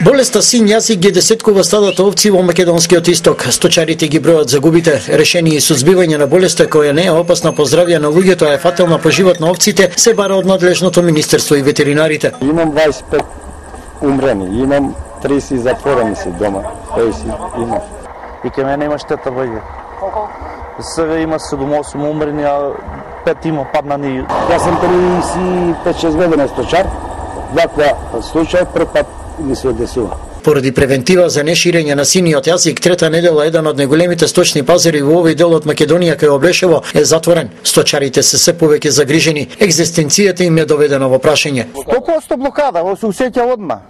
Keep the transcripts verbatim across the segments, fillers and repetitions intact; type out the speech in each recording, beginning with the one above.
Болеста син јазик ги десеткува стадото овци во македонскиот исток. Сточарите ги бројат загубите. Решение и сузбивање на болеста која не е опасна по здравје на луѓето, а е фатална по живот на овците, се бара од надлежното министерство и ветеринарите. Имам дваесет и пет умрени, имам тридесет затворени си дома. Тој си има. И ке мене има штета ваѓа. Сега има седум-осум умрени, а пет има паднани. Јас сум триесет и пет шест година сточар. Ваква случај прв пат ми се одесува. Поради превентива за неширење на синиот јазик, трета недела еден од најголемите сточни пазари во овој дел од Македонија кај Облешево е затворен. Сточарите се се повеќе загрижени. Екзистенцијата им е доведена во прашање. сто проценти блокада, во се усеќа одма.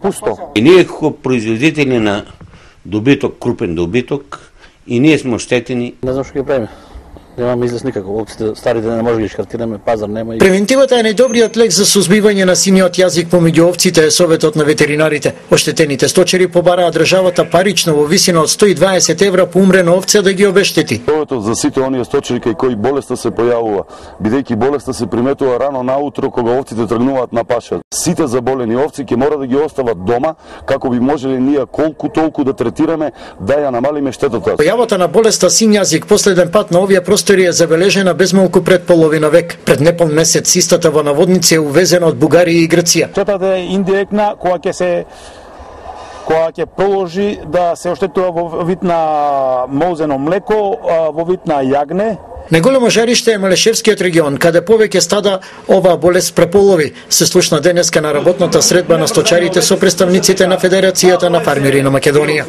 Пусто. И ние како производители на добиток, крупен добиток, и ние сме оштетени. Не знам што ќе правиме. Немаме излез никако. Овците старите не може да ги шкартираме, пазар нема. Превентивата е најдобриот лек за сузбивање на синиот јазик помеѓу овците, е советот на ветеринарите. Оштетените сточари побараа државата парично во висина од сто и дваесет евра по умрена овце да ги обештети. Советот за сите оние сточари кај кои болеста се појавува, бидејќи болеста се приметува рано наутро кога овците тргнуваат на паша. Сите заболени овци ќе мора да ги остават дома како би можеле ние колку толку да третираме да ја намалиме штетата. Појавата на болеста син јазик последен пат на овие простори е забележена безмалку пред половина век. Пред непол месец истата во наводници е увезена од Бугарија и Грција. Штетата е индиректна која ќе се која ќе продолжи да се оштетува во вид на мозено млеко, во вид на јагне. Најголемо жариште е Малешевскиот регион, каде повеќе стада оваа болест преполови. Се слушна денеска на работната средба на сточарите со представниците на Федерацијата на фармери на Македонија.